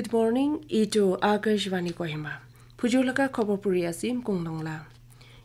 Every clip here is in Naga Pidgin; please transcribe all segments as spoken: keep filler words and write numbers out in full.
Good morning, itu Akashvani Kohima. Phujur laga khobor puri ase Mkung Nongla.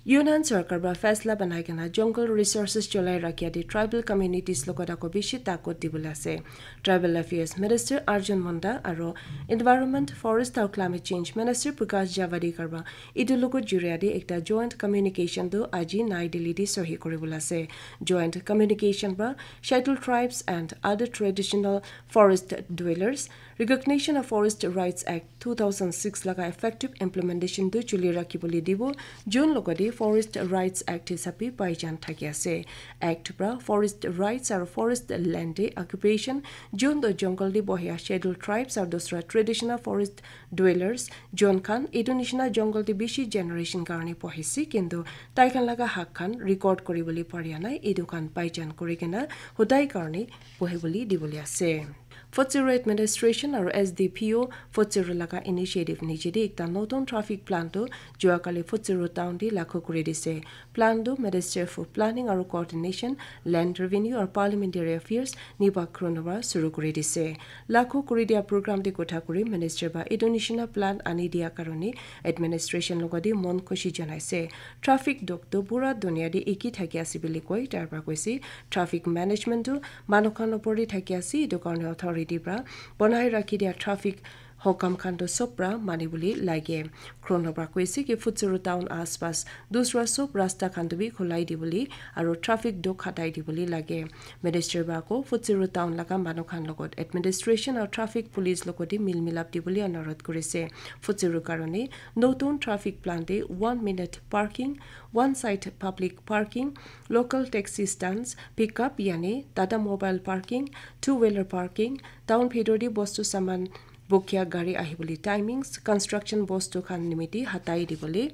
Union Sarkar ba faisla banai kena jungle resources cholai rakhiya de tribal communities logot ako bishi takot dibole ase. Tribal Affairs Minister Arjun Munda aro Environment, Forest aru Climate Change Minister Prakash Javadekar ba itu logot juriya de ekta joint communication tu aji Nai Delhi de sohi kuribole ase. Joint communication ba Scheduled Tribes and other traditional forest dwellers, recognition of Forest Rights Act two thousand six laga effective implementation tu chuli rakhibole dibo, jun logode Forest Rights Act hisabe paijan thaki ase. Act pra forest rights aru forest land de occupation, jun to jungle de bohia Scheduled Tribes aru dusra traditional forest dwellers, jun khan etu nishina jungle de bishi generation karne bohise, kintu tai khan laga hak khan record kuribole paria nai, etu khan paijan kuri kena hodai karne bohibole dibole ase. Futsero Administration aru S D P O Futsero laga initiative niche de ekta notun traffic plan tu jua kali Futsero town de lakhu kuri dise. Plan tu Minister for Planning aru Coordination, Land Revenue aru Parliamentary Affairs Nipa Khrono ba suru kuri dise. Lakhu kuri dia program de kotha kuri Minister ba etu nishina plan ani dia karone administration logode mon khushi janaise. Traffic dok tu pura dunia de eki thaki ase bili koi, tar pra koise traffic management tu manu khan opor de thaki ase, etu karne authority pra banai rakhi dia traffic hokam khan tu sob pra mani bole lage. Khrono pra koise ki Futsero town aspas dusra sob rasta khan tu bi khulai dibole aru traffic dok hatai dibole lage. Minister ba ko Futsero town laga manu khan logot administration aru traffic police logot de mil milap dibole anurodh kurise. Futsero karone notun traffic plan de one minute parking, one side public parking, local taxi stands, pickup yani Tata mobile parking, two wheeler parking, town bhitor de bostu saman bukya gari ahibole timings, construction bostu khan nimite hatai dibole,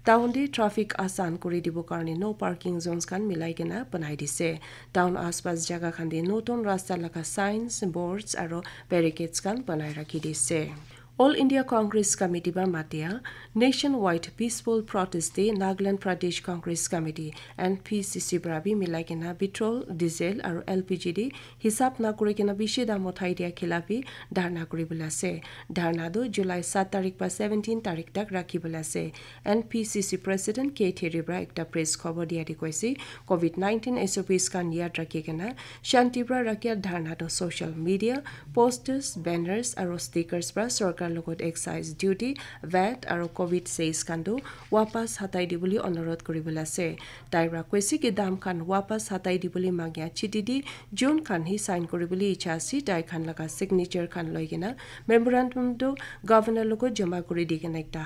town de traffic asan kuri dibo karne no parking zones khan milai kena banai dise. Town aspas jaga khan de notun rasta laga signs, boards aru barricades khan banai rakhi dise. All India Congress Committee ba matia nationwide peaceful protest de Nagaland Pradesh Congress Committee, N P C C, pra bi milai kena petrol, diesel aru L P G de hisab na kuri kena bishi dam uthai dia khilaf bi dharna kuri bole ase. Dharna tu July sat tarik pa seventeen tarik tak rakhi bole ase. N P C C President K Theri pra ekta press khobor dia de koise, covid nineteen S O Ps khan yad rakhi kena shanti pra rakhia dharna tu social media, posters, banners aru stickers pra sorkar logot excise duty, vat aru covid cess khan tu wapas hatai dibole anurodh kuri bole ase. Tai pra koise ki dam khan wapas hatai dibole mangia chiti de jun khan hi sign kuri bole icha ase, tai khan laga signature khan loi kena memorandum tu governor logot jama kuri di kena ekta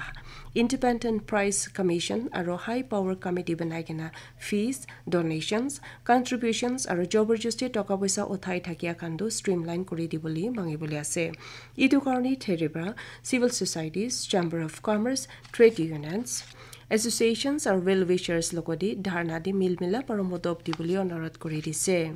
Independent Price Commission aru High Power Committee banai kena fees, donations, contributions aru joborjosti toka poisa uthai thakia khan tu streamline kuri dibole mangi bole ase. Etu karne Theri pra civil societies, Chamber of Commerce, trade unions, associations aru well wishers logot de dharna de mil milap aru modop dibole anurodh kuri dise.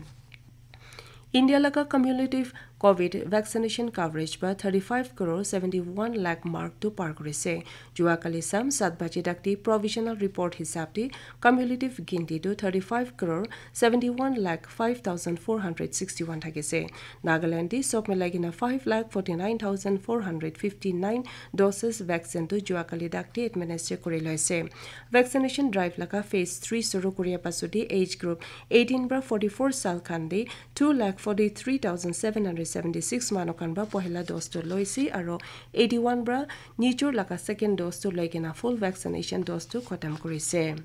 India laga cumulative covid vaccination coverage ba thirty-five crore seventy-one lakh mark tu par kurise. Jua kali sam sat baje dakti provisional report hisab de cumulative ginti tu thirty-five crore seventy-one lakh five thousand four hundred sixty-one thakise. Nagaland de sob milai kena five lakh forty-nine thousand four hundred fifty-nine doses vaccine tu jua kali dakti administer kuri loise. Vaccination drive laga phase three suru kuria pasudi age group eighteen pra forty-four sal khan de two lakh forty-three thousand seven hundred seventy-six manu khan ba pohila dose tu loise aru eighty-one pra nijor laga second dose tu loi kena full vaccination dose tu khatam kurise.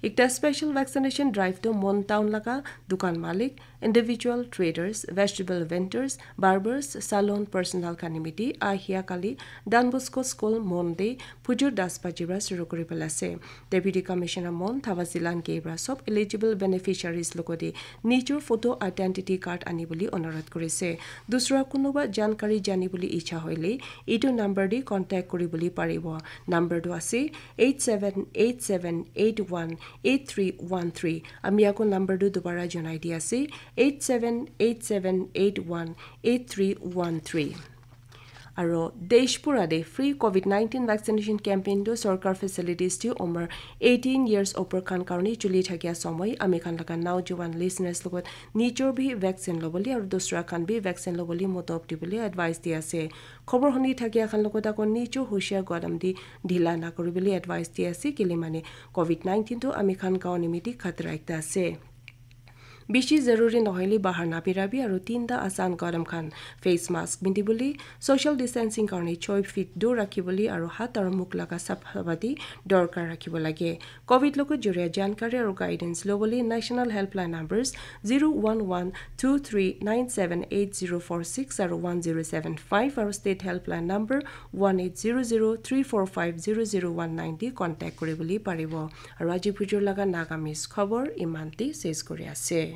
Ekta special vaccination drive tu Mon town laga dukan malik, individual traders, vegetable vendors, barbers, salon personnel khan nimite ahia kali Don Bosco School Mon de phujur das baji pra suru kuri bole ase. Deputy Commissioner Mon Thavazilan K pra sob eligible beneficiaries logote nijor photo identity card ani bole onurodh kurise. Dusra kunuba jankari jani bole icha hoile etu number de contact kuri bole paribo. Number tu ase eight seven eight seven eight one eight three one three. Ami ako number tu dobara janai di ase, eight seven eight seven eight one eight three one three. Aro desh pura te free covid nineteen vaccination campaign tu sorkar facilities tu umar eighteen years upor khan karone chuli thakia somoi ami khan laga naujowan listeners logot nijor bi vaccine lobole aro dusra khan bi vaccine lobole modop dibole advice di ase. Khobor huni thakia khan logot ako nijor hushiar godam di dhila na kuribole advice di ase, kile mane covid nineteen tu ami khan gaon nimiti khatra ekta ase. Bishi zaruri nohoile bahar nabirabi aro tinta asan kadam khan, face mask pindibole, social distancing karone choi feet dur rakhibole aro hat aro mukh laga saphabati dorkar rakhibo lage. Covid logot joria jankari aro guidance lobole national helpline numbers zero one one two three nine seven eight zero four six aro one zero seven five aro state helpline number one eight zero zero three four five zero zero one nine di contact kuribole paribo. Aro aji bujur laga Nagamese khobor iman te ses kuri ase.